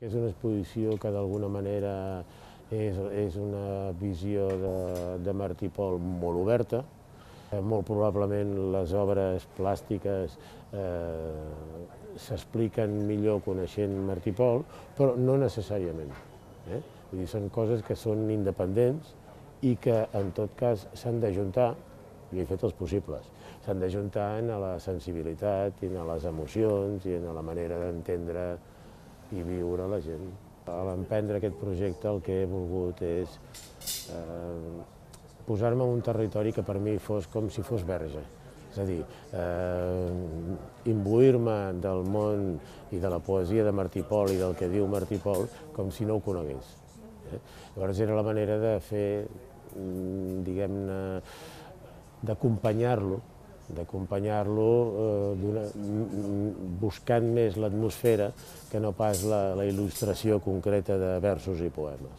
És una exposició que d'alguna manera és una visió de Martí Pol molt oberta. Molt probablement les obres plàstiques s'expliquen millor coneixent Martí Pol, però no necessàriament. Vull dir, són coses que són independents i que en tot cas s'han d'ajuntar, i he fet els possibles, s'han d'ajuntar en la sensibilitat, i en les emocions, i en la manera d'entendre i viure la gent. A l'emprendre aquest projecte el que he volgut és posar-me en un territori que per mi fos com si fos verge. És a dir, imbuir-me del món i de la poesia de Martí Pol i del que diu Martí Pol com si no ho conegués. Llavors era la manera de fer, diguem-ne, d'acompanyar-lo buscant més l'atmosfera que no pas la il·lustració concreta de versos i poemes.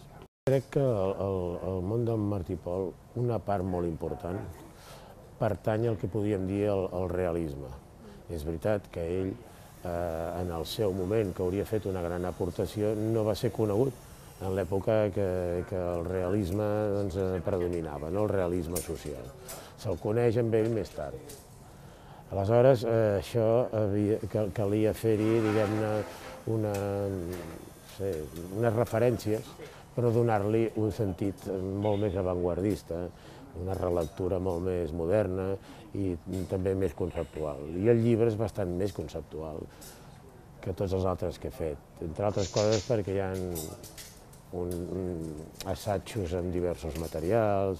Crec que el món del Martí Pol, una part molt important, pertany al que podríem dir el realisme. És veritat que ell, en el seu moment, que hauria fet una gran aportació, no va ser conegut en l'època que el realisme predominava, el realisme social. Se'l coneix amb ell més tard. Aleshores, això calia fer-hi, diguem-ne, unes referències, però donar-li un sentit molt més avantguardista, una relectura molt més moderna i també més conceptual. I el llibre és bastant més conceptual que tots els altres que he fet, entre altres coses perquè hi ha assajos amb diversos materials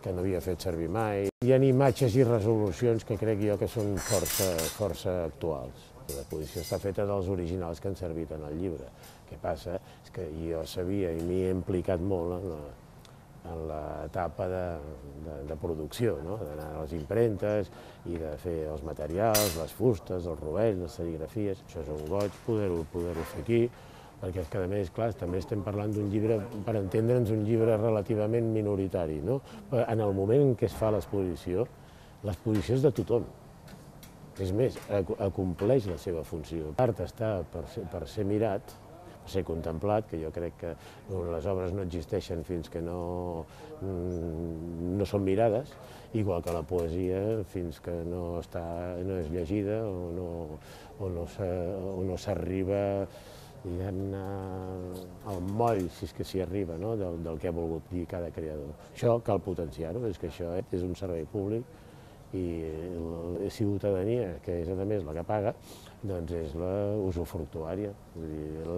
que no havia fet servir mai. Hi ha imatges i resolucions que crec jo que són força actuals. L'exposició està feta dels originals que han servit en el llibre. El que passa és que jo sabia i m'hi he implicat molt en l'etapa de producció, d'anar a les impremtes i de fer els materials, les fustes, els rovells, les serigrafies. Això és un goig poder-ho fer aquí, perquè és que, a més, clar, també estem parlant d'un llibre, per entendre'ns, un llibre relativament minoritari. En el moment en què es fa l'exposició és de tothom. És més, acompleix la seva funció. L'art està per ser mirat, per ser contemplat, que jo crec que les obres no existeixen fins que no són mirades, igual que la poesia fins que no és llegida o no s'arriba, diguem-ne, al moll, si és que s'hi arriba, del que ha volgut dir cada creador. Això cal potenciar-ho, és que això és un servei públic i la ciutadania, que és a més la que paga, doncs és la usufructuària.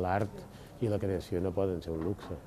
L'art i la creació no poden ser un luxe.